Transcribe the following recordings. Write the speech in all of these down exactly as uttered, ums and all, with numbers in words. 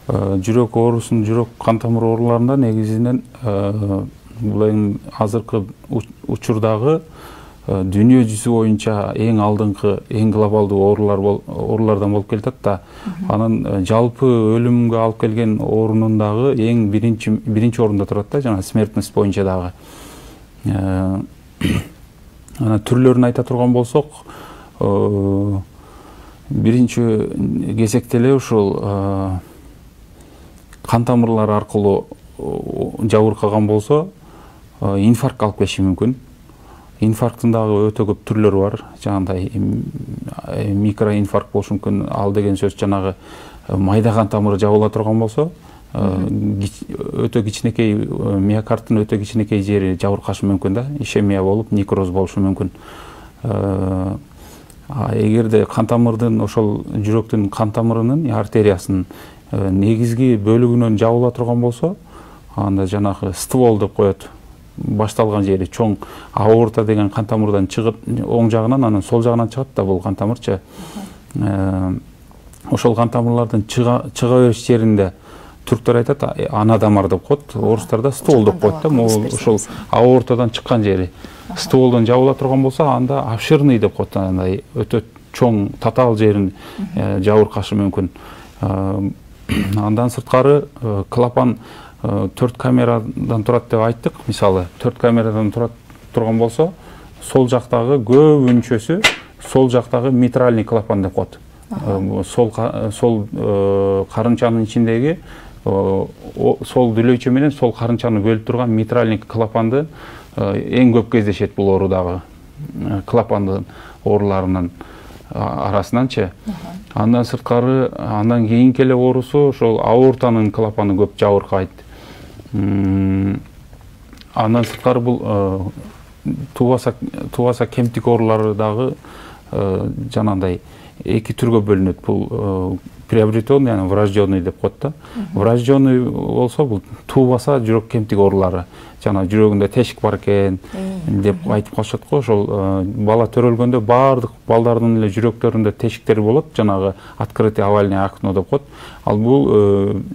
жүрөк оорусун, жүрөк кан тамыр ооруларында негизинен бул эң азыркы учурдагы дүйнө жүзү боюнча эң алдыңкы, эң глобалдуу оорулар оорулардан болуп келатат да. Анын жалпы өлүмгө алып келген оорунун дагы эң биринчи биринчи орунда турат да, жана смертность боюнча дагы. Анан түрлөрүн айта турган болсок, биринчи кезекте эле ушул кан тамырлар аркылуу жабыркаган болсо, инфаркт алып келиши мүмкүн. Инфаркттын дагы өтө көп түрлөрү бар. Жанагындай микроинфаркт болушу мүмкүн. Ал деген сөз жанагы майда кан тамыры жабыла турган болсо, өтө кичинекей миокардтын өтө кичинекей жери жабыркашы мүмкүн да, ишемия болуп, некроз болушу мүмкүн. Эгерде кан тамырдын, ошол жүрөктүн кан тамырынын, артериясынын негизги бөлүгүнөн жабыла турган болсо, анда жанагы ствол деп коет. Башталган жери чоң аорта деген кан тамырдан чыгып, оң жагынан, анан сол жагынан чыгат да бул кан тамырчы. Ошол кан тамырлардын чыга бериш жеринде түрктөр айтат, анадамар деп коет, орустарда ствол деп коет да, могул ошол аортадан чыккан жери. Стволдон жабыла турган болсо, анда обширный деп коет, андай өтө чоң татаал жерин жабыркашы мүмкүн. Андан сырткары клапан төрт камерадан турат деп айттык. Мисалы, төрт камерадан турат турган болсо, сол жактагы көбүнчөсү сол жактагы митральный клапан деп коет. Сол сол карынчанын ичиндеги сол дүлөйчө менен сол карынчаны бөлүп турган митральный клапанды эң көп кездешет бул оорудагы клапандын ооруларынын арасынанчы. Андан сырткары, андан кийинки эле оорусу ошол аортанын клапаны көп жабыркайт. Андан сырткары бул тубаса кемтик оорулары дагы жанагындай эки түргө бөлүнөт. Бул приобретенный, анан врожденный деп коет да. Врожденный болсо бул тубаса жүрөк кемтик оорулары. Жана жүрөгүндө тешик бар экен деп айтып калышат го. Ошол бала төрөлгөндө баардык балдардын эле жүрөктөрүндө тешиктер болот, жанагы открытое овальное окно деп коет. Ал бул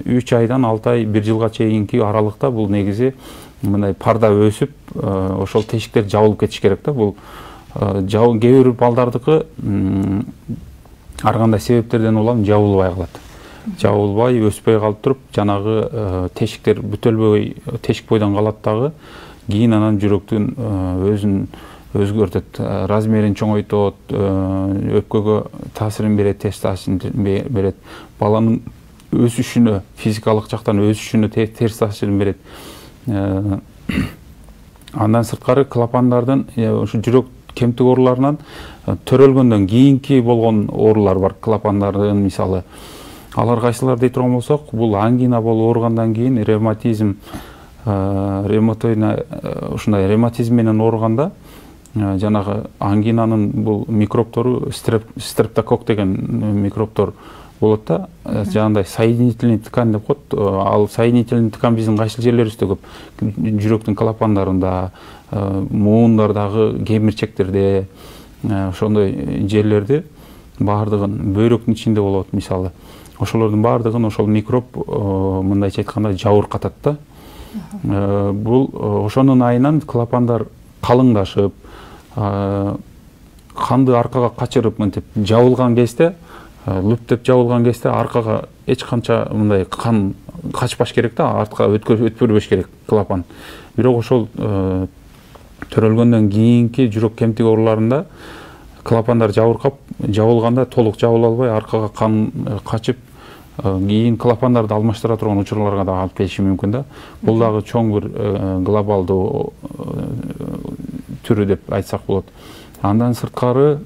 үч айдан алты ай, бир жылга чейинки аралыкта бул негизи мындай парда өсүп, ошол тешиктер жабылып кетиш керек да. Бул кээ бир балдардыкы ар кандай себептерден улам жабылбай калат. Жабылбай, өспөй калып туруп, жанагы тешиктер бүтөлбөй, тешик бойдон калат дагы. Кийин анан жүрөктүн өзүн өзгөртөт, размерин чоңойтот, өпкөгө таасирин берет, терс таасирин берет. Баланын өсүшүнө, физикалык жактан өсүшүнө терс таасирин берет. Андан сырткары клапандардын ушу жүрөк кемтик ооруларынан төрөлгөндөн кийинки болгон оорулар бар. Клапандардын мисалы, алар кайсылар дей турган болсок, бул ангина болуп ооругандан кийин ревматизм, ревматоидный ушундай ревматизм менен ооруганда, жанагы ангинанын бул микробтору стрептокок деген микробтор болот да. Жанагындай соединительный ткань деп коет. Ал соединительный ткань биздин кайсыл жерлерибизде көп? Жүрөктүн клапандарында, муундардагы кемирчектерде, ошондой жерлерде баардыгын бөйрөктүн ичинде болот мисалы. Ошолордун баардыгын ошол микроб мындайча айтканда жабыркатат да. Бул ошонун айынан клапандар калыңдашып, канды аркага качырып мынтип жабылган кезде, лүптөп жабылган кезде аркага эч канча мындай кан качпаш керек да, артка өтпөбөш керек клапан. Бирок ошол төрөлгөндөн кийинки жүрөк кемтик ооруларында клапандар жабыркап, жабылганда толук жабыла албай, аркага кан качып, кийин клапандарды алмаштыра турган учурларга да алып келиши мүмкүн да. Бул дагы чоң бир глобалдуу түрү деп айтсак болот. Андан сырткары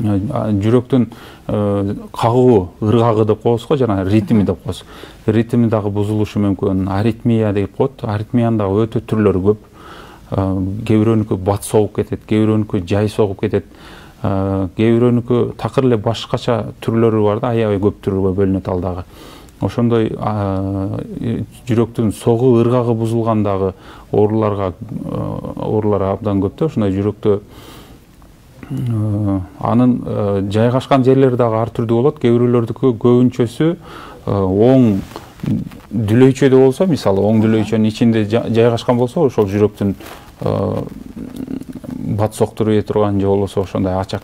жүрөктүн кагуу, ыргагы деп коебуз го, жана ритми деп коебуз. Ритми дагы бузулушу мүмкүн. Аритмия деп коет. Аритмиянын дагы өтө түрлөрү көп. Кээ бирөөнүкү бат согуп кетет, кээ бирөөнүкү жай согуп кетет. Кээ бирөөнүкү такыр эле башкача түрлөрү бар да, аябай көп түргө бөлүнөт ал дагы. Ошондой жүрөктүн согуу, ыргагы бузулгандагы ооруларга оорулар абдан көп да. Ошондой жүрөктө анын жайгашкан жерлери дагы ар түрдүү болот. Кээ бирөөлөрдүкү көбүнчөсү оң дүлөйчөдө болсо, мисалы оң дүлөйчөнүн ичинде жайгашкан болсо, ошол жүрөктүн батыс октурбай турган же болбосо ошондой ачак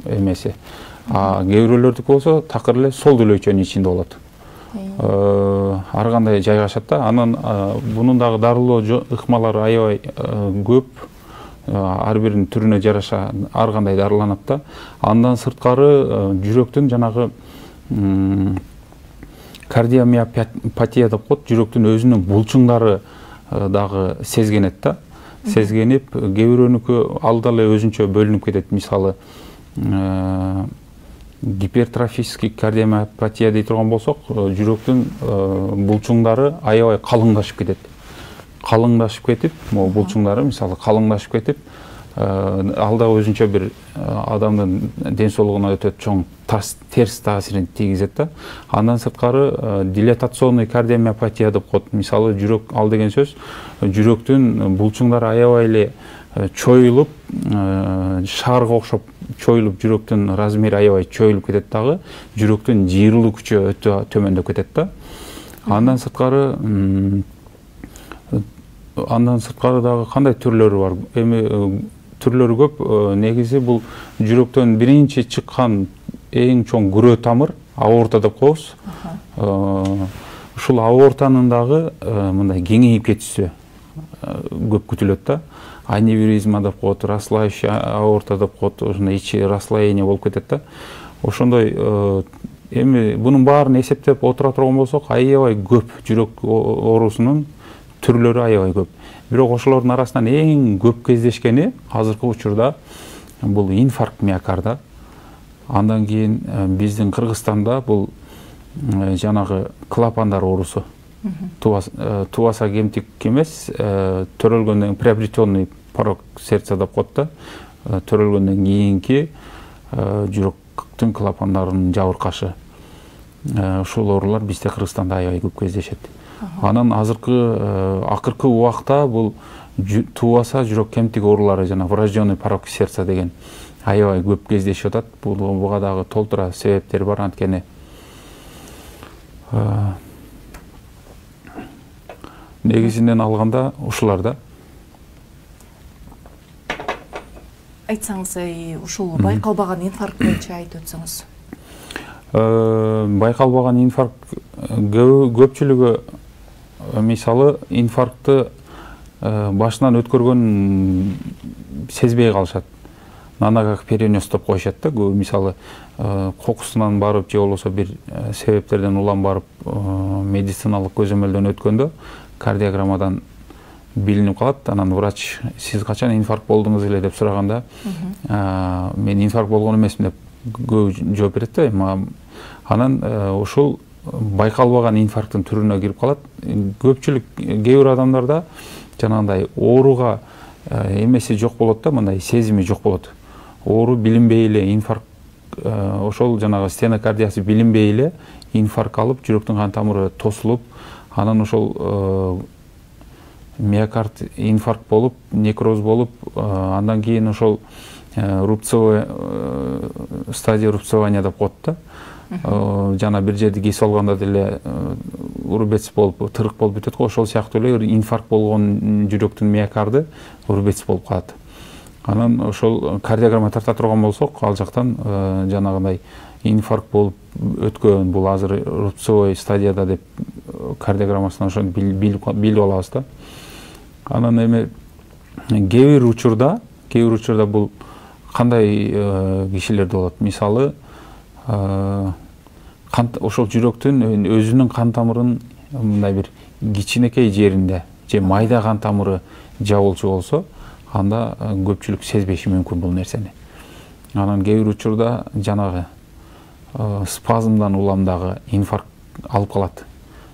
эмеси. А кээ бирөөлөрдүкү болсо такыр эле сол дүлөйчөнүн ичинде болот. Ар кандай жайгашат да. Анан бунун дагы дарылоо ыкмалары аябай көп. Ар биринин түрүнө жараша ар кандай дарыланат да. Андан сырткары жүрөктүн жанагы кардиомиопатия деп коет, жүрөктүн өзүнүн булчуңдары дагы сезгенет да. Сезгенип, кээ бирөөнүкү алда эле өзүнчө бөлүнүп кетет. Мисалы, гипертрофический кардиомиопатия дей турган болсок, жүрөктүн булчуңдары аябай калыңдашып кетет. Калыңдашып кетип, могу булчуңдары мисалы калыңдашып кетип, алда өзүнчө бир адамдын ден соолугуна өтө чоң терс таасирин тийгизет да. Андан сырткары дилатационный кардиомиопатия деп коет. Мисалы, жүрөк ал деген сөз жүрөктүн булчуңдары аябай эле чоюлуп, шаарга окшоп чоюлуп, жүрөктүн размери аябай чоюлуп кетет дагы, жүрөктүн жыйырылуу күчү өтө төмөндөп кетет да. Андан сырткары андан сырткары дагы кандай түрлөрү бар? Эми түрлөрү көп. Негизи бул жүрөктөн биринчи чыккан эң чоң күрөө тамыр аорта деп коебуз. Ушул аортанын дагы мындай кеңейип кетүүсү көп күтүлөт да. Аневризма деп коет, расслающая аорта деп коет, ошондой ичи расслоение болуп кетет да. Ошондой эми бунун баарын эсептеп отура турган болсок, аябай көп жүрөк оорусунун түрлөрү аябай көп. Бирок ошолордун арасынан эң көп кездешкени азыркы учурда бул инфаркт миокарда. Андан кийин биздин Кыргызстанда бул жанагы клапандар оорусу. Тубаса кемтик эмес, төрөлгөндөн приобретенный порок сердца деп коет да. Төрөлгөндөн кийинки жүрөктүн клапандарынын жабыркашы. Ушул оорулар бизде Кыргызстанда аябай көп кездешет. Анан азыркы акыркы убакта бул тубаса жүрөк кемтик оорулары, жана врожденный порок сердца деген аябай көп кездешип атат. Буга дагы толтура себептер бар, анткени негизинен алганда ушулар да. Айтсаңыз, ушул байкалбаган инфаркт боюнча айтып өтсөңүз. Байкалбаган инфаркт көпчүлүгү мисалы инфарктты башынан өткөргөн сезбей калышат. Нана как перенес деп коюшат да. Мисалы кокусунан барып же болбосо бир себептерден улам барып медициналык көзөмөлдөн өткөндө кардиограммадан билинип калат. Анан врач сиз качан инфаркт болдуңуз эле деп сураганда, мен инфаркт болгон эмесмин деп көп жооп берет да. Анан ушул байкалбаган инфаркттын түрүнө кирип калат. Көпчүлүк кээ бир адамдарда жанагындай ооруга эмеси жок болот да, мындай сезими жок болот. Оору билинбей эле инфаркт, ошол жанагы стенокардиясы билинбей эле инфаркт алып, жүрөктүн кан тамыры тосулуп, анан ошол миокард инфаркт болуп, некроз болуп, андан кийин ошол рубцовый стадия рубцования деп коет да. Жана бир жерди кесип алганда деле урубец болуп, тырык болуп бүтөт го. Ошол сыяктуу эле инфаркт болгон жүрөктүн миокарды урубец болуп калат. Анан ошол кардиограмма тарта турган болсок, ал жактан жанагындай инфаркт болуп өткөн, бул азыр рубцовый стадияда деп кардиограммасынан ошону билип алабыз да. Анан эми кээ бир учурда, кээ бир учурда бул кандай кишилерде болот? Мисалы, ошол жүрөктүн өзүнүн кан тамырынын мындай бир кичинекей жеринде же майда кан тамыры жабылчу болсо, анда көпчүлүк сезбеши мүмкүн бул нерсени. Анан кээ бир учурда жанагы спазмдан улам дагы инфаркт алып калат.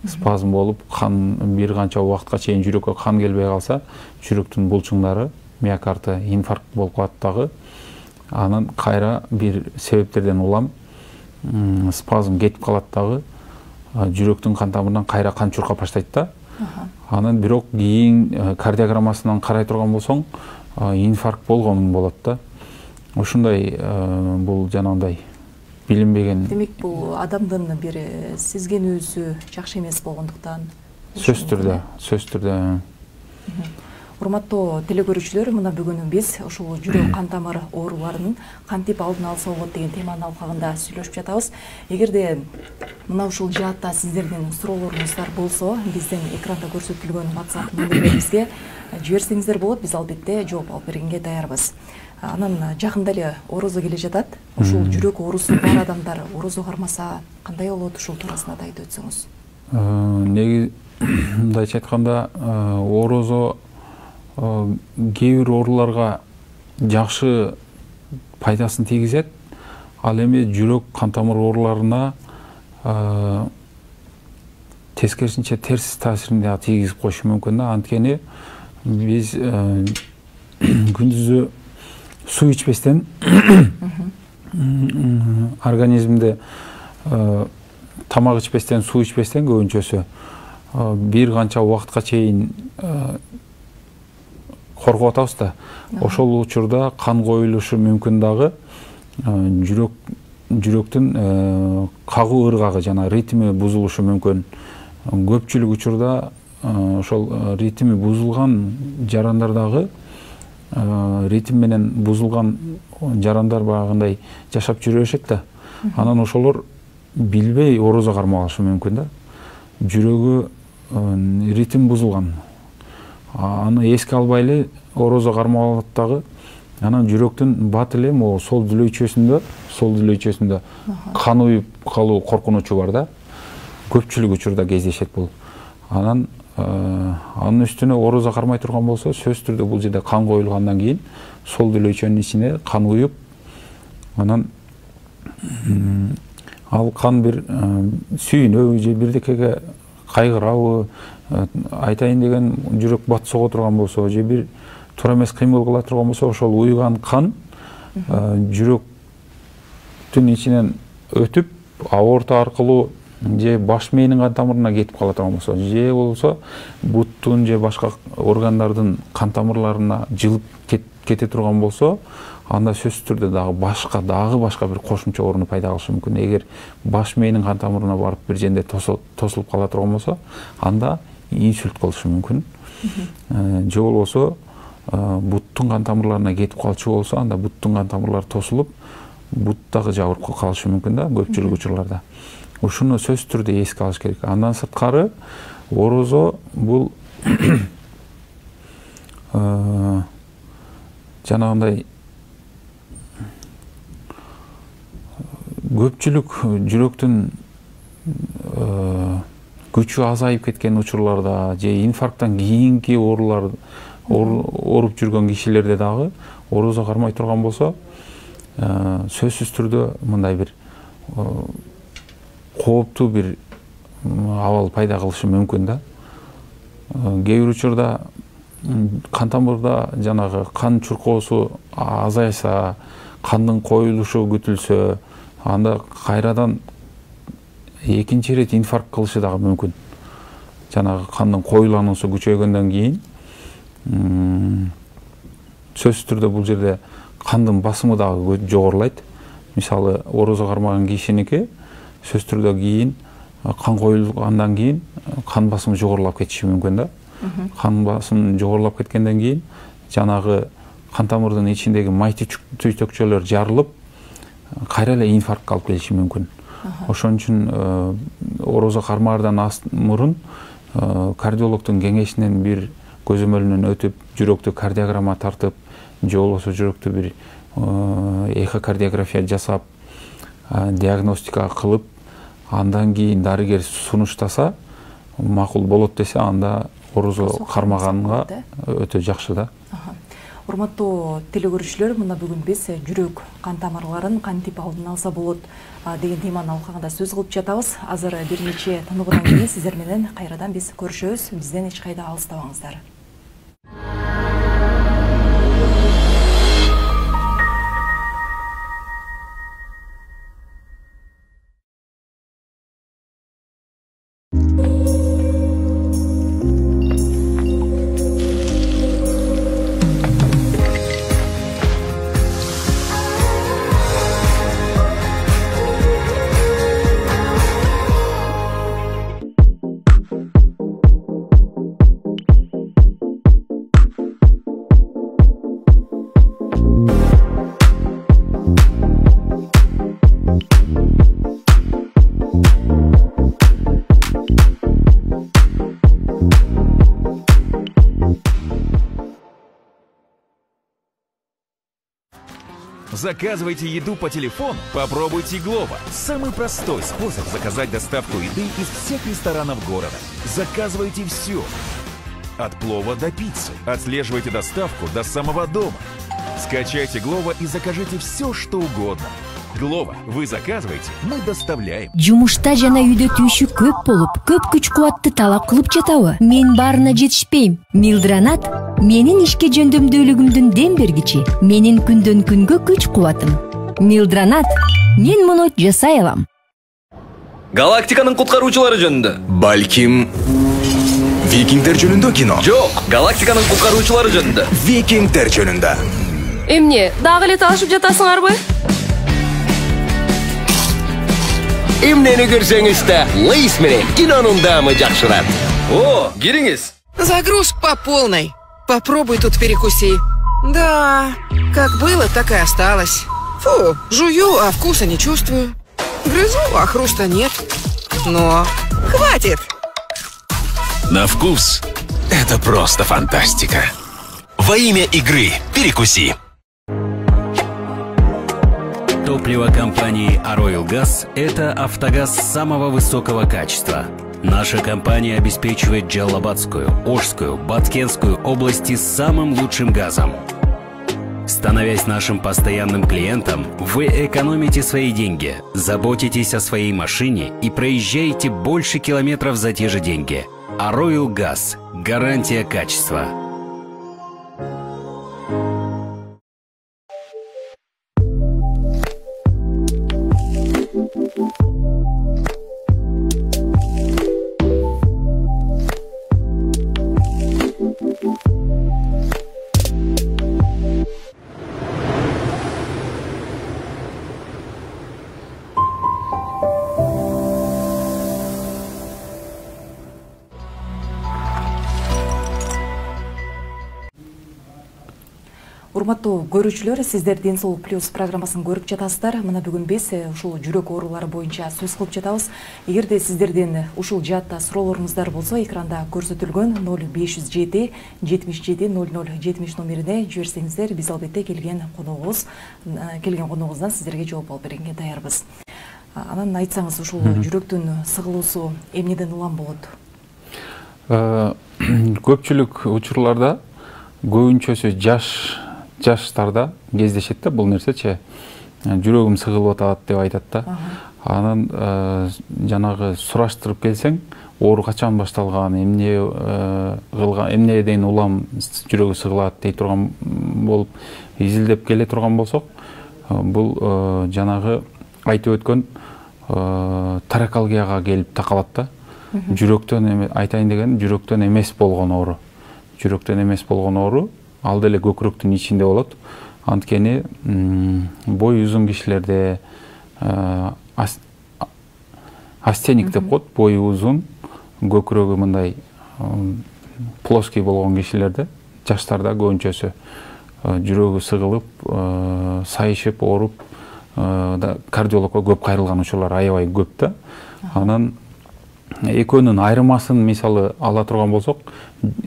Спазм болуп, кан бир канча убакытка чейин жүрөккө кан келбей калса, жүрөктүн булчуңдары, миокарды инфаркт болуп калат дагы. Анан кайра бир себептерден улам спазм кетип калат дагы, жүрөктүн кан тамырынан кайра кан чуркап баштайт да. Анан бирок кийин кардиограммасынан карай турган болсоң, инфаркт болгонун болот да. Ушундай бул жанагындай билинбеген. Демек бул адамдын бир сезгенүүсү жакшы эмес болгондуктан. Сөз түрдө, сөз түрдө. Урматтуу телекөрүүчүлөр, мына бүгүн биз ушул жүрөк кан тамыр ооруларынын кантип алдын алса болот деген теманын алкагында сүйлөшүп жатабыз. Эгерде мына ушул жаатта сиздердин суроолоруңуздар болсо, биздин экранда көрсөтүлгөн WhatsApp номерибизге жиберсеңиздер болот. Биз албетте жооп алып бергенге даярбыз. Анан жакында эле орозо келе жатат. Ушул жүрөк оорусу бар адамдар орозо кармаса кандай болот, ушул туурасында да айтып өтсөңүз. Неги мындайча айтканда, орозо кээ бир ооруларга жакшы пайдасын тийгизет. Ал эми жүрөк кан тамыр ооруларына тескерисинче терс таасирин да тийгизип коюшу мүмкүн да. Анткени биз күндүзү суу ичпестен организмде тамак ичпестен, суу ичпестен көбүнчөсү бир канча убакытка чейин коргоп атабыз да. Ошол учурда кан коюлушу мүмкүн дагы, жүрөк жүрөктүн кагуу ыргагы жана ритми бузулушу мүмкүн. Көпчүлүк учурда ошол ритми бузулган жарандардагы ритм менен бузулган жарандар баягындай жашап жүрө беришет да. Анан ошолор билбей орозо кармап алышы мүмкүн да. Жүрөгү ритм бузулган. Аны эске албай эле орозо кармап алат дагы. Анан жүрөктүн бат эле могу сол дүлөйчөсүндө, сол дүлөйчөсүндө кан уюп калуу коркунучу бар да. Көпчүлүк учурда кездешет бул. Анан анын үстүнө орозо кармай турган болсо, сөз түрдө бул жерде кан коюлгандан кийин сол дүлөйчөнүн ичине кан уюп, анан ал кан бир сүйүнөбү же бирдекеге кайгырабы, айтайын деген жүрөк бат сого турган болсо, же бир туура эмес кыймыл кыла турган болсо, ошол уйган кан жүрөктүн ичинен өтүп аорта аркылуу же баш мээнин кан тамырына кетип кала турган болсо, же болбосо буттун же башка органдардын кан тамырларына жылып кете турган болсо, анда сөз түрдө дагы башка дагы башка бир кошумча ооруну пайда кылышы мүмкүн. Эгер баш мээнин кан тамырына барып бир жерде тосулуп кала турган болсо, анда инсульт кылышы мүмкүн. Же болбосо буттун кан тамырларына кетип калчу болсо, анда буттун кан тамырлары тосулуп, бут дагы жабырып калышы мүмкүн да, көпчүлүк учурларда. Ушуну сөз түрдө эске алыш керек. Андан сырткары орозо бул жанагындай көпчүлүк жүрөктүн күчү азайып кеткен учурларда же инфаркттан кийинки оорулар ооруп жүргөн кишилерде дагы орозо кармай турган болсо, сөзсүз түрдө мындай бир кооптуу бир абал пайда кылышы мүмкүн да. Кээ бир учурда кан тамырда жанагы кан чуркоосу азайса, кандын коюлушу күтүлсө, анда кайрадан экинчи ирет инфаркт кылышы дагы мүмкүн. Жанагы кандын коюлануусу күчөйгөндөн кийин сөзсүз түрдө бул жерде кандын басымы дагы жогорулайт. Мисалы, орозо кармаган кишиники сөз түрдө кийин кан коюлгандан кийин кан басымы жогорулап кетиши мүмкүн да. Кан басымы жогорулап кеткенден кийин жанагы кан тамырдын ичиндеги май түйтөкчөлөр жарылып, кайра эле инфарктка алып келиши мүмкүн. Ошон үчүн орозо кармаардан мурун кардиологдун кеңешинен бир көзөмөлүнөн өтүп, жүрөктү кардиограмма тартып, же болбосо жүрөктү бир эхокардиография жасап, диагностика кылып, андан кийин дарыгер сунуштаса, макул болот десе, анда орозо кармаганга өтө жакшы да. Урматтуу телекөрүүчүлөр, мына бүгүн биз жүрөк кан тамырларын кантип алдын алса болот деген теманын алкагында сөз кылып жатабыз. Азыр бир нече тыныгуудан кийин сиздер менен кайрадан биз көрүшөбүз. Бизден эч кайда алыстабаңыздар. Заказывайте еду по телефону, попробуйте Glovo. Самый простой способ заказать доставку еды из всех ресторанов города. Заказывайте все. От плова до пиццы. Отслеживайте доставку до самого дома. Скачайте Glovo и закажите все, что угодно. Glovo. Вы заказываете, мы доставляем. Жумушта жана үйдө түйшү көп болуп, көп күч кубатты талап кылып жатабы? Мен баарына жетишпейм. Милдранат менин ишке жөндөмдүүлүгүмдүн дем бергичи, менин күндөн күнгө күч кубатым. Милдранат, мен муну жасай алам. Галактиканын куткаруучулары жөнүндө. Балким Викингдер жөнүндө кино. Жок, Галактиканын куткаруучулары жөнүндө. Викингдер жөнүндө. Эмне, дагы эле талашып жатасыңарбы? Эмнени көрсөңүз да, Лейс менен кинонун даамы жакшырат. О, кириңиз. Загрузка по полной. Попробуй тут перекуси. Да, как было, так и осталось. Фу, жую, а вкуса не чувствую. Грызу, а хруста нет. Но хватит. На вкус это просто фантастика. Во имя игры перекуси. Топливо компании Aroil Gas – это автогаз самого высокого качества. Наша компания обеспечивает Джалабадскую, Ошскую, Баткенскую области самым лучшим газом. Становясь нашим постоянным клиентом, вы экономите свои деньги, заботитесь о своей машине и проезжаете больше километров за те же деньги. Aroil Gas – гарантия качества. Урматтуу көрүүчүлөр, сиздер Ден соолук плюс программасын көрүп жатасыздар. Мына бүгүн биз ушул жүрөк оорулары боюнча сөз кылып жатабыз. Эгерде сиздерден ушул жаатта суроолоруңуздар болсо, экранда көрсөтүлгөн ноль беш жүз жети жетимиш жети ноль ноль жетимиш номерине жиберсеңиздер, биз албетте келген коногубуз келген коногубуздан сиздерге жооп алып бергенге даярбыз. Анан айтсаңыз, ушул жүрөктүн сыгылуусу эмнеден улам болот? Көпчүлүк учурларда көбүнчөсү жаш жаштарда кездешет да бул нерсечи. Жүрөгүм сыгылып атат деп айтат да. Анан жанагы сураштырып келсең, оору качан башталган, эмне кылган, эмнеден улам жүрөгү сыгылат дей турган болуп изилдеп келе турган болсок, бул жанагы айтып өткөн таракалгияга келип такалат да. Жүрөктөн айтайын деген жүрөктөн эмес болгон оору. Жүрөктөн эмес болгон оору ал деле көкүрөктүн ичинде болот. Анткени бой узун кишилерде астеник деп коет, бою узун, көкүрөгү мындай плоский болгон кишилерде, жаштарда көбүнчөсү жүрөгү сыгылып, сайышып, ооруп, кардиологко көп кайрылган учурлар аябай көп да. Анан экөөнүн айырмасын мисалы ала турган болсок,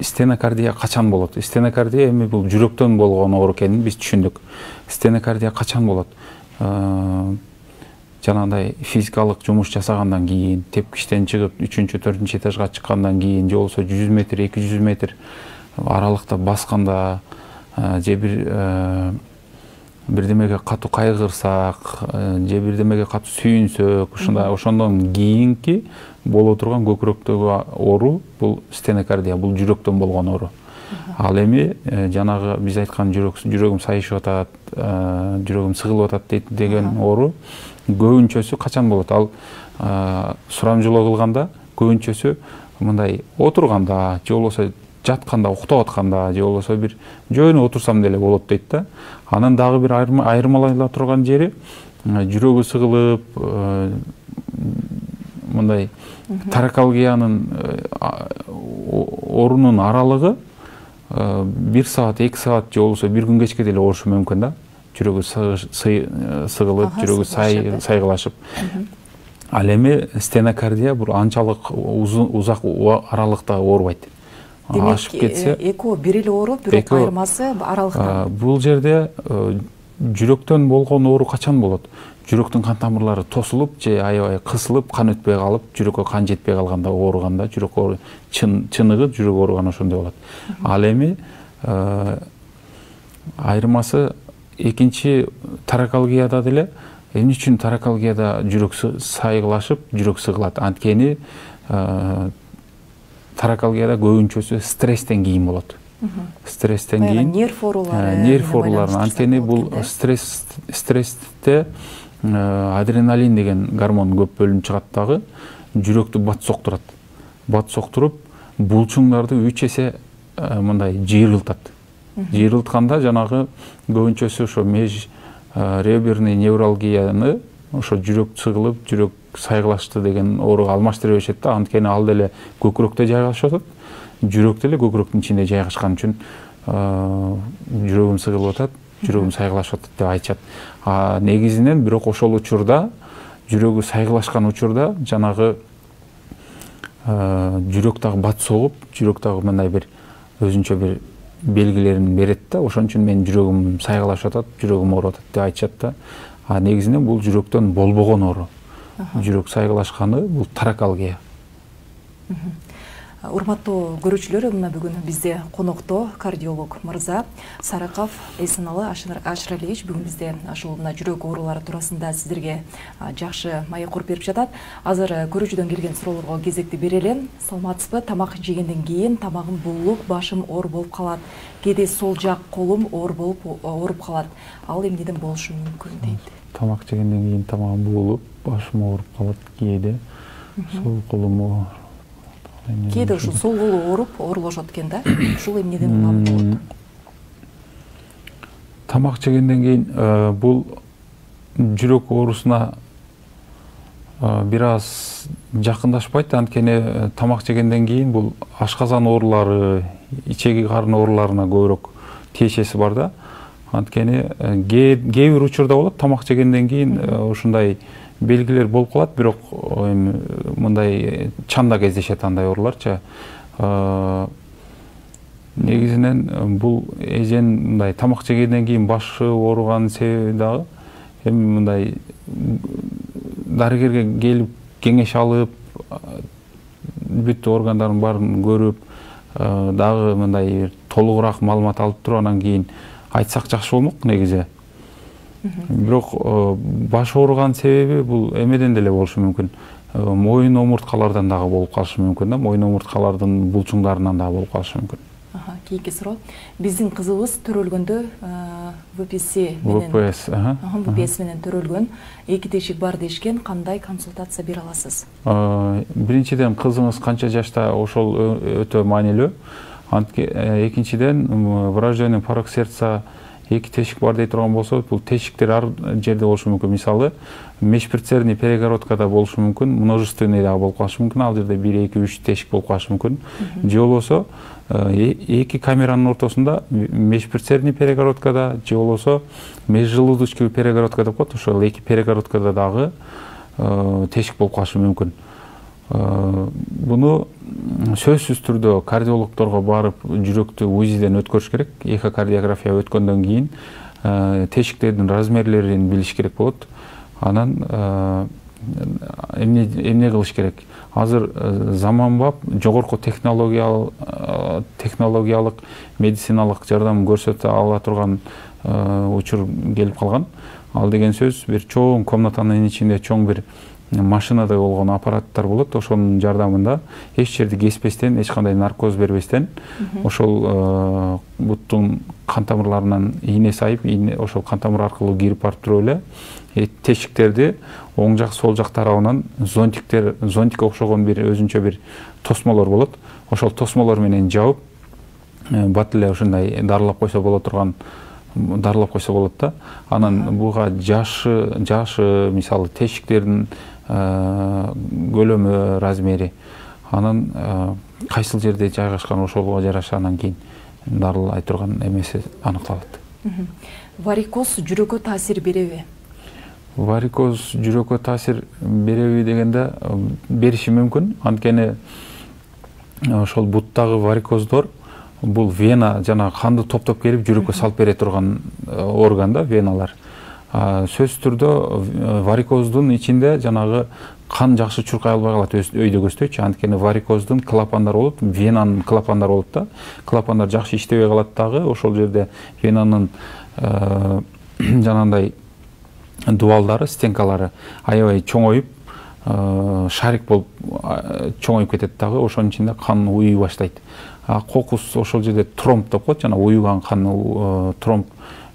стенокардия качан болот? Стенокардия эми бул жүрөктөн болгон оору экенин биз түшүндүк. Стенокардия качан болот? Жанагындай физикалык жумуш жасагандан кийин, тепкичтен чыгып, үчүнчү, төртүнчү этажга чыккандан кийин, же болбосо жүз метр, эки жүз метр аралыкта басканда, же бир бирдемеге катуу кайгырсак, же бирдемеге катуу сүйүнсөк, ушундай ошондон кийинки боло турган көкүрөктөгү оору бул стенокардия, бул жүрөктөн болгон оору. Ал эми жанагы биз айткан жүрөк жүрөгүм сайышып атат, жүрөгүм сыгылып атат деген оору көбүнчөсү качан болот? Ал сурамжылоо кылганда көбүнчөсү мындай отурганда, же болбосо жатканда, уктап атканда, же болбосо бир жөнү отурсам деле болот дейт да. Анан дагы бир айырмалайла турган жери жүрөгү сыгылып, мындай таракалгиянын оорунун аралыгы бир саат, эки саат же болбосо бир күн кечке деле оорушу мүмкүн да. Жүрөгү сыгылып, жүрөгү сайгылашып. Ал эми стенокардия бул анчалык узак аралыкта оорубайт. Демек, экөө бир эле оору, бирок айырмасы аралыкта. Бул жерде жүрөктөн болгон оору качан болот? Жүрөктүн кан тамырлары тосулуп же аябай кысылып, кан өтпөй калып, жүрөккө кан жетпей калганда ооруганда, жүрөк оору чыныгы жүрөк ооруган ошондой болот. Ал эми айырмасы экинчи таракалгияда деле эмне үчүн таракалгияда жүрөк сайгылашып, жүрөк сыгылат? Анткени таракалгияда көбүнчөсү стресстен кийин болот. Стресстен кийин нерв оорулары, нерв оорулары, анткени бул стресс стрессте адреналин деген гормон көп бөлүнүп чыгат дагы, жүрөктү бат соктурат. Бат соктуруп, булчуңдарды үч эсе мындай жыйрылтат. Жыйрылтканда жанагы көбүнчөсү ошо меж реберный невралгияны, ошо жүрөк сыгылып, жүрөк сайгылашты деген ооруга алмаштыра беришет да, анткени ал деле көкүрөктө жайгашып атат. Жүрөк деле көкүрөктүн ичинде жайгашкан үчүн жүрөгүм сыгылып атат, жүрөгүм сайгылашып атат деп айтышат. А негизинен бирок ошол учурда, жүрөгү сайгылашкан учурда жанагы жүрөк дагы бат согуп, жүрөк дагы мындай бир өзүнчө бир белгилерин берет да, ошон үчүн менин жүрөгүм сайгылашып атат, жүрөгүм ооруп атат деп айтышат да. А негизинен бул жүрөктөн болбогон оору. Жүрөк сайгылашканы бул таракалгия. Урматтуу көрүүчүлөр, мына бүгүн бизде конокто кардиолог мырза Сараков Эсеналы Ашыралиевич бүгүн бизде ушул мына жүрөк оорулары туурасында сиздерге жакшы маек куруп берип жатат. Азыр көрүүчүдөн келген суроолорго кезекти берели. Саламатсызбы? Тамак жегенден кийин тамагым буулуп, башым оор болуп калат. Кээде сол жак колум оор болуп ооруп калат. Ал эмнеден болушу мүмкүн дейт. Тамак жегенден кийин тамагым буулуп, башым ооруп калат кээде. Сол колум Кээде ушул сол колу ооруп, оорулошот экен да. Ушул эмнеден улам болот? Тамак жегенден кийин бул жүрөк оорусуна бир аз жакындашпайт, анткени тамак жегенден кийин бул ашказан оорулары, ичеги карын ооруларына көбүрөөк тиешеси бар да. Анткени кээ бир учурда болот, тамак жегенден кийин ушундай белгилер болуп калат, бирок мындай чанда кездешет андай ооруларчы. Негизинен бул эжен мындай тамак жегенден кийин башы ооруганын себеби дагы эми мындай дарыгерге келип кеңеш алып, бүт органдардын баарын көрүп, дагы мындай толугураак маалымат алып туруп анан кийин айтсак жакшы болмок негизи. Бирок баш ооруган себеби бул эмеден деле болушу мүмкүн. Моюн омурткалардан дагы болуп калышы мүмкүн да, моюн омурткалардын булчуңдарынан дагы болуп калышы мүмкүн. Кийинки суроо. Биздин кызыбыз төрөлгөндө вэ пэ эс менен вэ пэ эс, вэ пэ эс менен төрөлгөн, эки тешик бар дешкен, кандай консультация бере аласыз? Биринчиден, кызыңыз канча жашта, ошол өтө маанилүү. Экинчиден, врожденный порок сердца эки тешик бар дей турган болсо, бул тешиктер ар жерде болушу мүмкүн. Мисалы, межпредсердий перегородкада болушу мүмкүн, множественный дагы болуп калышы мүмкүн, ал жерде бир, эки, үч тешик болуп калышы мүмкүн. Же болбосо эки камеранын ортосунда межпредсердий перегородкада, же болбосо межжелудочковый перегородка деп коет, ошол эки перегородкада дагы тешик болуп калышы мүмкүн. Буну сөзсүз түрдө кардиологдорго барып жүрөктү УЗИден өткөрүш керек. Эхокардиография өткөндөн кийин тешиктердин размерлерин билиш керек болот. Анан эмне эмне кылыш керек? Азыр заманбап жогорку технологиялык технологиялык медициналык жардам көрсөтө ала турган учур келип калган. Ал деген сөз бир чоң комнатанын ичинде чоң бир машинада болгон аппараттар болот, ошонун жардамында эч жерди кеспестен, эч кандай наркоз бербестен, ошол буттун кан тамырларынан ийне сайып, ошол кан тамыр аркылуу кирип барып туруп эле тешиктерди оң жак, сол жак тарабынан зонтиктер, зонтикке окшогон бир өзүнчө бир тосмолор болот. Ошол тосмолор менен жабып, бат эле ушундай дарылап койсо боло турган дарылап койсо болот да. Анан буга жашы, жашы, мисалы тешиктердин көлөмү, размери, анан кайсыл жерде жайгашкан ошого жараша анан кийин дарылай турган эмеси аныкталат. Варикоз жүрөккө таасир береби? Варикоз жүрөккө таасир береби дегенде бериши мүмкүн. Анткени ошол буттагы варикоздор бул вена жана канды топтоп келип жүрөккө салып бере турган орган да веналар. Сөзсүз түрдө варикоздун ичинде жанагы кан жакшы чуркай албай калат өйдөгөстөйчү. Анткени варикоздун клапандар болот, венанын клапандар болот да. Клапандар жакшы иштебей калат дагы, ошол жерде венанын жанагындай дуалдары, стенкалары аябай чоңоюп, шарик болуп чоңоюп кетет дагы, ошонун ичинде кан уюй баштайт. Кокус ошол жерде тромб деп коет, жана уюган кан тромб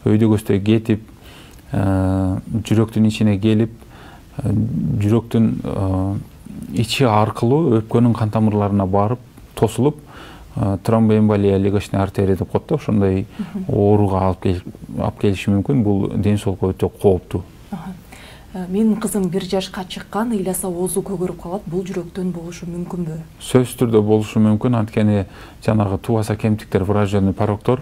өйдөгөстөй кетип, жүрөктүн ичине келип, жүрөктүн ичи аркылуу өпкөнүн кан тамырларына барып тосулуп, тромбоэмболия легочный артерия деп коет да, ошондой ооруга алып келиши мүмкүн. Бул ден соолукка өтө кооптуу. Менин кызым бир жашка чыккан, ыйласа оозу көгөрүп калат. Бул жүрөктөн болушу мүмкүнбү? Сөзсүз түрдө болушу мүмкүн. Анткени жанагы тубаса кемтиктер, врожденный пороктор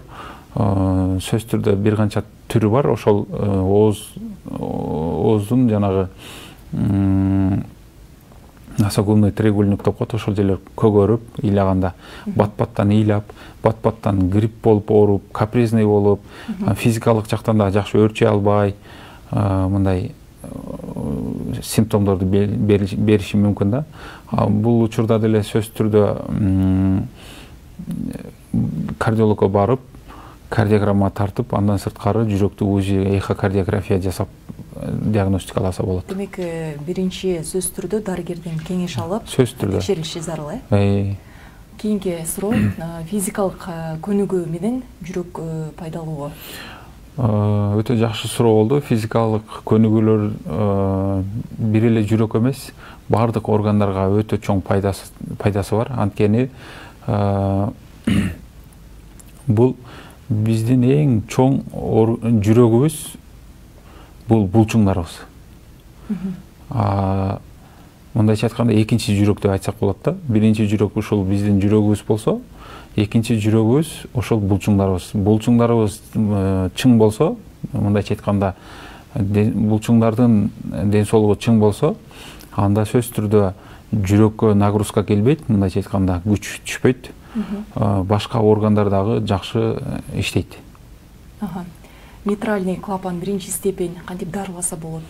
сөзсүз түрдө бир канча түрү бар. Ошол ооз ооздун жанагы носогубный треугольник деп коет, ошол жерлер көгөрүп, ыйлаганда бат-баттан ыйлап, бат-баттан грипп болуп ооруп, капризный болуп, физикалык жактан да жакшы өөрчөй албай, мындай симптомдорду бериши мүмкүн да. Бул учурда деле сөзсүз түрдө кардиологко барып, кардиограмма тартып, андан сырткары жүрөктү УЗИ, эхокардиография жасап диагностикаласа болот. Демек, биринчи сөзсүз түрдө дарыгерден кеңеш алып, текшерилиши зарыл, э? Кийинки суроо, физикалык көнүгүү менен жүрөк пайдалуубу? Өтө жакшы суроо болду. Физикалык көнүгүүлөр бир эле жүрөк эмес, бардык органдарга өтө чоң пайдасы бар. Анткени бул биздин эң чоң жүрөгүбүз, бул булчуңдарыбыз. Мындайча айтканда экинчи жүрөк деп айтсак болот да. Биринчи жүрөк ушул биздин жүрөгүбүз болсо, экинчи жүрөгүбүз ошол булчуңдарыбыз. Булчуңдарыбыз чың болсо, мындайча айтканда булчуңдардын ден соолугу чың болсо, анда сөзсүз түрдө жүрөккө нагрузка келбейт, мындайча айтканда күч түшпөйт. Башка органдар дагы жакшы иштейт. Митральный клапан биринчи степень кантип дарыласа болот?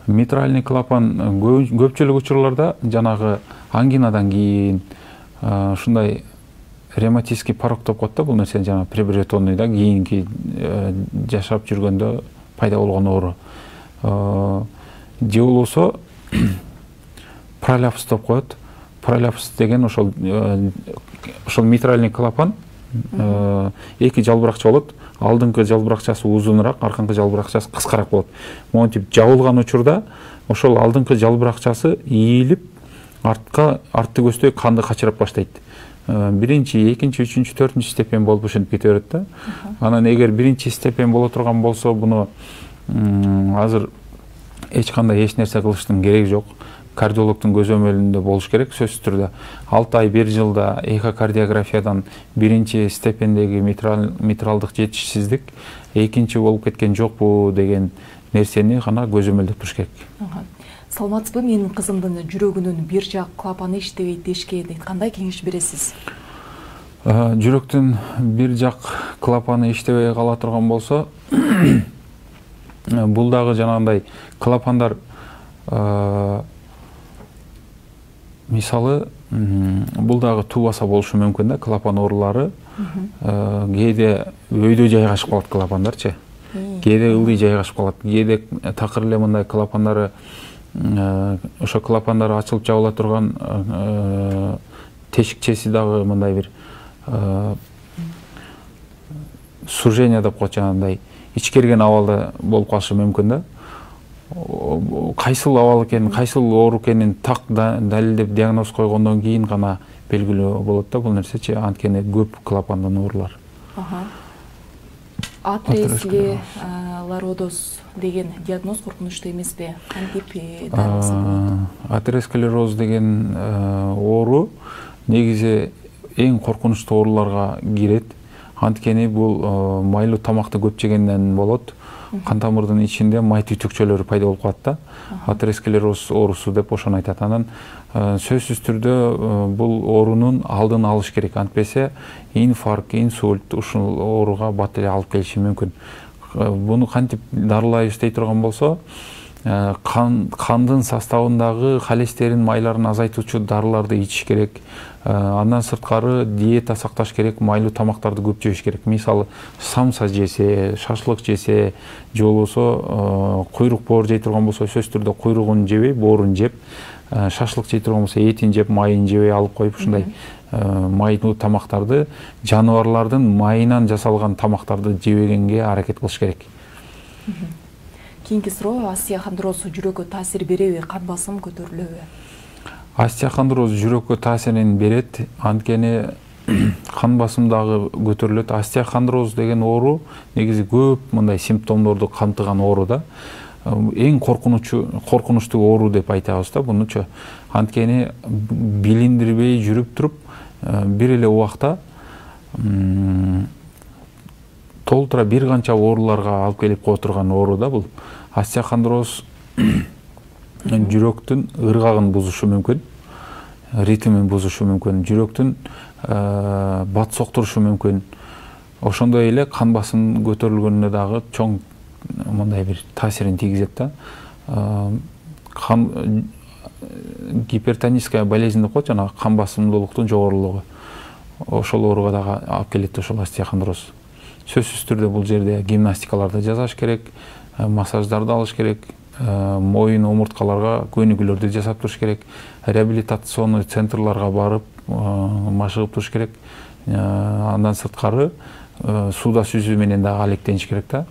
Митральный клапан көпчүлүк учурларда жанагы ангинадан кийин, ушундай ревматический порок деп коет да, бул нерсе жана приобретенный да, кийинки жашап жүргөндө пайда болгон оору. Же болбосо пролапс деп коет. Пролапс деген ошол ошол митральный клапан эки жалбыракча болот. Алдыңкы жалбыракчасы узунураак, арканкы жалбыракчасы кыскараак болот. Монтип жабылган учурда ошол алдыңкы жалбыракчасы ийилип, артка артты көздөй канды качырып баштайт. Биринчи, экинчи, үчүнчү, төртүнчү степень болуп ушинтип кете берет да. Анан эгер биринчи степень боло турган болсо, буну азыр эч кандай эч нерсе кылыштын кереги жок. Кардиологдун көзөмөлүндө болуш керек. Сөзсүз түрдө алты ай, бир жылда эхокардиографиядан биринчи степендеги митралдык жетишсиздик экинчи болуп кеткен жокпу деген нерсени гана көзөмөлдөп туруш керек. Саламатсызбы? Менин кызымдын жүрөгүнүн бир жак клапаны иштебейт дешкен. Кандай кеңеш бересиз? Жүрөктүн бир жак клапаны иштебей кала турган болсо, бул дагы жанагындай клапандар, мисалы, бул дагы тубаса болушу мүмкүн да, клапан оорулары. Кээде өйдө жайгашып калат клапандарчы. Кээде ылдый жайгашып калат. Кээде такыр эле мындай клапандары, ошо клапандары ачылып жабыла турган тешикчеси дагы мындай бир сужение деп коет, жанагындай ичкерген абалда болуп калышы мүмкүн да. Кайсыл абал экенин, кайсыл оору экенин так далилдеп диагноз койгондон кийин гана белгилүү болот да бул нерсечи. Анткени көп клапандын оорулар. Атеросклероз деген диагноз коркунучтуу эмеспи? Кантип дарыласа болот? Атеросклероз деген оору негизи эң коркунучтуу ооруларга кирет. Анткени бул майлуу тамакты көп жегенден болот. кан тамырдын ичинде май түтүкчөлөрү пайда болуп калат да. Атеросклероз оорусу деп ошону айтат. Анан сөзсүз түрдө бул оорунун алдын алыш керек. Антпесе инфаркт, инсульт ушул ооруга бат эле алып келиши мүмкүн. Буну кантип дарылайбыз дей турган болсо, кан кандын составындагы холестерин майларын азайтуучу дарыларды ичиш керек. Андан сырткары диета сакташ керек, майлуу тамактарды көп жеш керек. Мисалы, самса жесе, шашлык жесе, же болбосо куйрук боор жей турган болсо, сөзсүз түрдө куйругун жебей, боорун жеп, шашлык жей турган болсо, этин жеп, майын жебей алып коюп, ушундай майлуу тамактарды, жаныбарлардын майынан жасалган тамактарды жебегенге аракет кылыш керек. Кийинки суроо, остеохондроз жүрөккө таасир береби, кан басым көтөрүлөбү? Остеохондроз жүрөккө таасирин берет, анткени кан басым дагы көтөрүлөт. Остеохондроз деген оору негизи көп мындай симптомдорду камтыган оору да. Эң коркунучу коркунучтуу оору деп айтабыз да бунучу. Анткени билиндирбей жүрүп туруп, бир эле убакта толтура бир канча ооруларга алып келип кое турган оору да бул. Остеохондроз жүрөктүн ыргагын бузушу мүмкүн, ритмин бузушу мүмкүн, жүрөктүн бат соктурушу мүмкүн. Ошондой эле кан басым көтөрүлгөнүнө дагы чоң мындай бир таасирин тийгизет да. Кан гипертоническая болезнь деп коет, жана кан басымдуулуктун жогорулугу. Ошол ооруга дагы алып келет ошол остеохондроз. Сөзсүз түрдө бул жерде гимнастикаларды жасаш керек, массаждарды алыш керек, моюн омурткаларга көнүгүүлөрдү жасап туруш керек, реабилитационный центрларга барып машыгып туруш керек. Андан сырткары сууда сүзүү менен дагы алектениш керек да.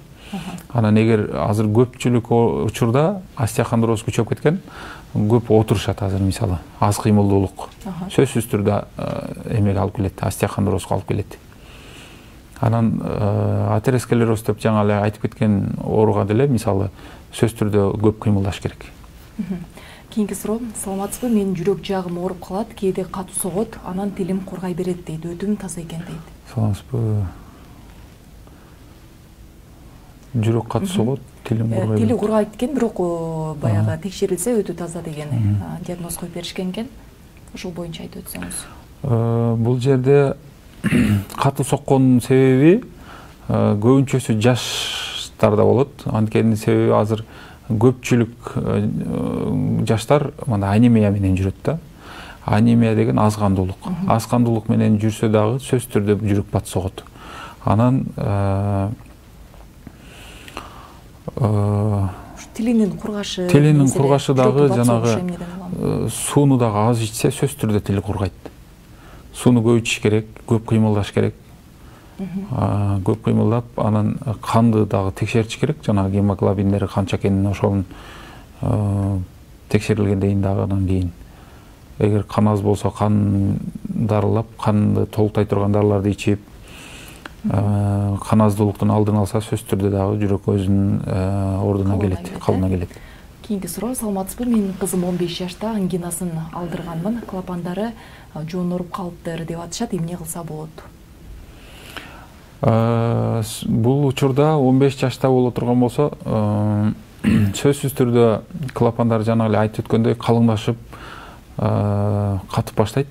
Анан эгер азыр көпчүлүк учурда остеохондроз күчөп кеткен, көп отурушат азыр мисалы, аз кыймылдуулук. Сөзсүз түрдө эмеге алып келет, остеохондрозго алып келет. Анан атеросклероз деп жаңа эле айтып кеткен ооруга деле мисалы сөз түрдө көп кыймылдаш керек. Кийинки суроо, саламатсызбы, менин жүрөк жагым ооруп калат, кээде катуу согот, анан тилим кургай берет дейт, өтүм таза экен дейт. Саламатсызбы. Жүрөк катуу согот, тилим кургай. Тили кургайт экен, бирок баягы текшерилсе өтө таза деген диагноз коюп беришкен экен. Ошол боюнча айтып өтсөңүз. Бул жерде катуу соккондун себеби көбүнчөсү жаштарда болот. Анткени себеби азыр көпчүлүк жаштар мына анемия менен жүрөт да. Анемия деген аз кандуулук. Аз кандуулук менен жүрсө дагы сөзсүз түрдө жүрөк бат согот. Анан тилинин кургашы, тилинин кургашы дагы жанагы сууну дагы аз ичсе сөзсүз түрдө тили кургайт. Сууну көп ичиш керек, көп кыймылдаш керек. Көп кыймылдап, анан канды дагы текшертиш керек. Жанагы гемоглобиндери канча экенин ошонун текшерилгенден дагы анан кийин. Эгер кан аз болсо кан дарылап, канды толуктай турган дарыларды ичип, кан аздуулуктун алдын алса сөзсүз түрдө дагы жүрөк өзүнүн ордуна келет, калыбына келет. Кийинки суроо, саламатсызбы, менин кызым он беш жашта, ангинасын алдырганмын, клапандары жооноруп калыптыр деп атышат, эмне кылса болот? Бул учурда он беш жашта боло турган болсо, сөзсүз түрдө клапандар жана эле айтып өткөндөй калыңдашып, катып баштайт.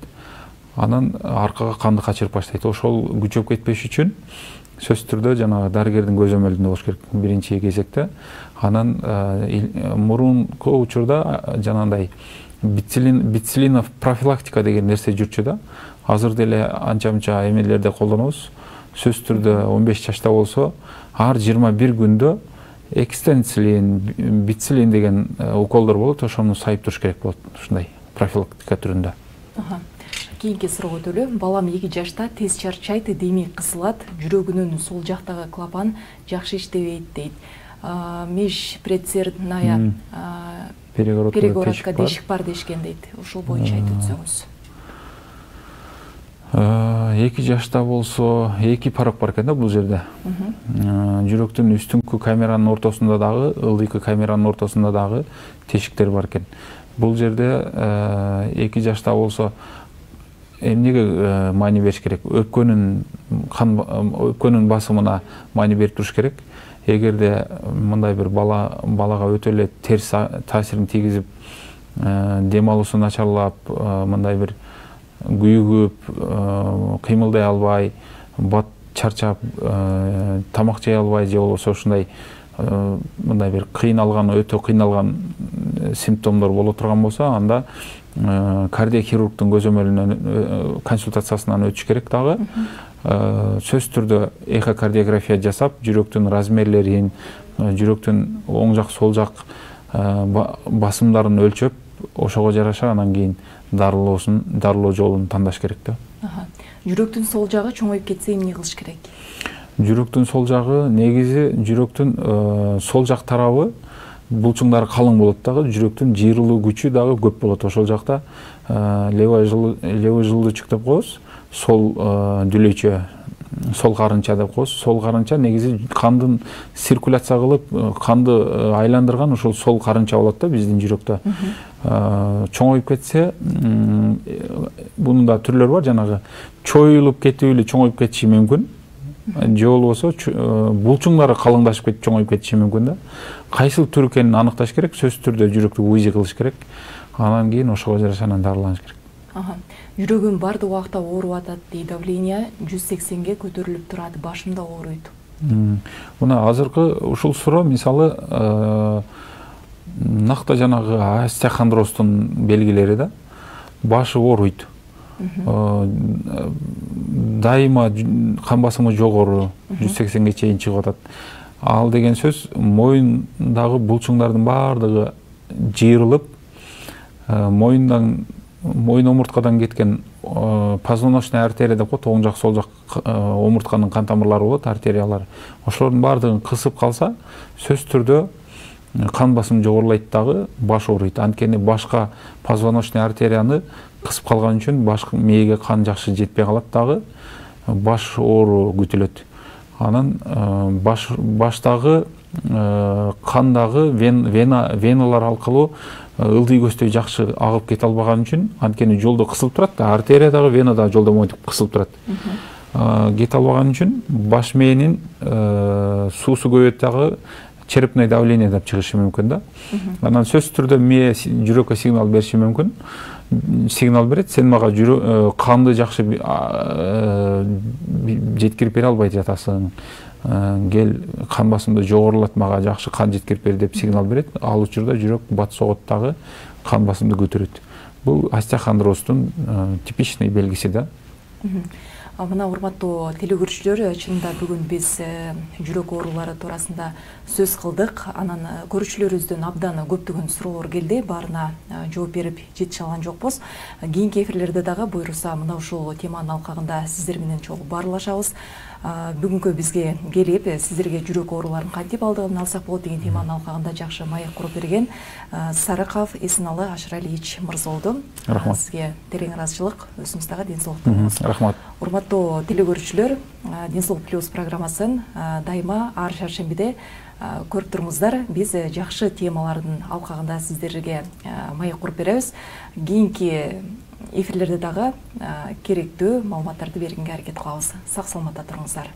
Анан аркага канды качырып баштайт. Ошол күчөп кетпеш үчүн сөзсүз түрдө жанагы дарыгердин көзөмөлүндө болуш керек биринчи кезекте. Анан мурунку учурда жанагындай бицилинов профилактика деген нерсе жүрчү да. Азыр деле анча-мынча эмелерде колдонобуз. Сөзсүз түрдө он беш жашта болсо, ар жыйырма бир күндө экстенцилин, бицилин деген уколдор болот, ошону сайып туруш керек болот, ушундай профилактика түрүндө. Кийинки суроо өтөлү. Балам эки жашта, тез чарчайт, деми кысылат, жүрөгүнүн сол жактагы клапан жакшы иштебейт дейт. Межпредсердная перегородка дешик бар дешкен дейт. Ошол боюнча айтып өтсөңүз. эки жашта болсо, эки парак бар экен да бул жерде. Жүрөктүн үстүңкү камеранын ортосунда дагы, ылдыйкы камеранын ортосунда дагы тешиктер бар экен. Бул жерде эки жашта болсо эмнеге маани бериш керек? Өпкөнүн кан өпкөнүн басымына маани берип туруш керек. эгерде мындай бир бала балага өтө эле терс таасирин тийгизип, дем алуусу начарлап, мындай бир күйүгүп, кыймылдай албай, бат чарчап, тамак жей албай же болбосо ушундай мындай бир кыйналган, өтө кыйналган симптомдор боло турган болсо, анда кардиохирургдун көзөмөлүнөн консультациясынан өтүш керек дагы. Сөзсүз түрдө эхокардиография жасап, жүрөктүн размерлерин, жүрөктүн оң жак, сол жак басымдарын өлчөп, ошого жараша анан кийин дарылоосун, дарылоо жолун тандаш керек да. Жүрөктүн сол жагы чоңоюп кетсе эмне кылыш керек? Жүрөктүн сол жагы негизи жүрөктүн сол жак тарабы булчуңдары калың болот дагы, жүрөктүн жыйрылуу күчү дагы көп болот. Ошол жакта левый желудочек деп коебуз, сол дүлөйчө, сол карынча деп коебуз. Сол карынча негизи кандын циркуляция кылып, канды айландырган ошол сол карынча болот да биздин жүрөктө. Чоңоюп кетсе, бунун да түрлөрү бар, жанагы чоюлуп кетип эле чоңоюп кетиши мүмкүн. Же болбосо булчуңдары калыңдашып кетип чоңоюп кетиши мүмкүн да. Кайсыл түр экенин аныкташ керек, сөзсүз түрдө жүрөктү УЗИ кылыш керек. Анан кийин ошого жараша анан дарыланыш керек. Жүрөгүм бардык убакта ооруп атат дейт, давление жүз сексенге көтөрүлүп турат, башымда ооруйт. Мына азыркы ушул суроо мисалы накта жанагы остеохондроздун белгилери да. Башы ооруйт. Дайыма кан басымы жогору, жүз сексенге чейин чыгып атат. Ал деген сөз моюндагы булчуңдардын бардыгы жыйрылып, моюндан моюн омурткадан кеткен позвоночный артерия деп коет, оң жак, сол жак омуртканын кан тамырлары болот, артериялар. Ошолордун бардыгын кысып калса, сөзсүз түрдө кан басым жогорулайт дагы, баш ооруйт. Анткени башка позвоночный артерияны кысып калган үчүн баш мээге кан жакшы жетпей калат дагы, баш оору күтүлөт. Анан баш баштагы кандагы веналар аркылуу ылдый көздөй жакшы агып кете албаган үчүн, анткени жолдо кысылып турат да, артерия дагы, вена дагы жолдо монтип кысылып турат. Кете албаган үчүн баш мээнин суусу көбөйөт дагы, черепное давление деп чыгышы мүмкүн да. Анан сөзсүз түрдө мээ жүрөккө сигнал бериши мүмкүн. Сигнал берет, сен мага канды жакшы жеткирип бере албай жатасың. Кел, кан басымды жогорулат, мага жакшы кан жеткирип бер деп сигнал берет. Ал учурда жүрөк бат согот дагы, кан басымды көтөрөт. Бул остеохондроздун типичный белгиси да. Мына урматтуу телекөрүүчүлөр, чынында бүгүн биз жүрөк оорулары туурасында сөз кылдык. Анан көрүүчүлөрүбүздөн абдан көптөгөн суроолор келди. Баарына жооп берип жетише алган жокпуз. Кийинки эфирлерде дагы буйруса мына ушул теманын алкагында сиздер менен чогуу баарлашабыз. Бүгүнкү бизге келип, сиздерге жүрөк ооруларын кантип алдын алсак болот деген теманын алкагында жакшы маек куруп берген Сарыков Эсеналы Ашыралиевич мырза болду. Рахмат. Сизге терең ыраазычылык, өзүңүз дагы ден соолук болуңуз. Рахмат. Урматтуу телекөрүүчүлөр, Денсаулык плюс программасын дайыма ар шаршембиде көрүп туруңуздар. Биз жакшы темалардын алкагында сиздерге маек куруп беребиз. Кийинки эфирлерде дагы керектүү маалыматтарды бергенге аракет кылабыз. Сак саламатта туруңуздар.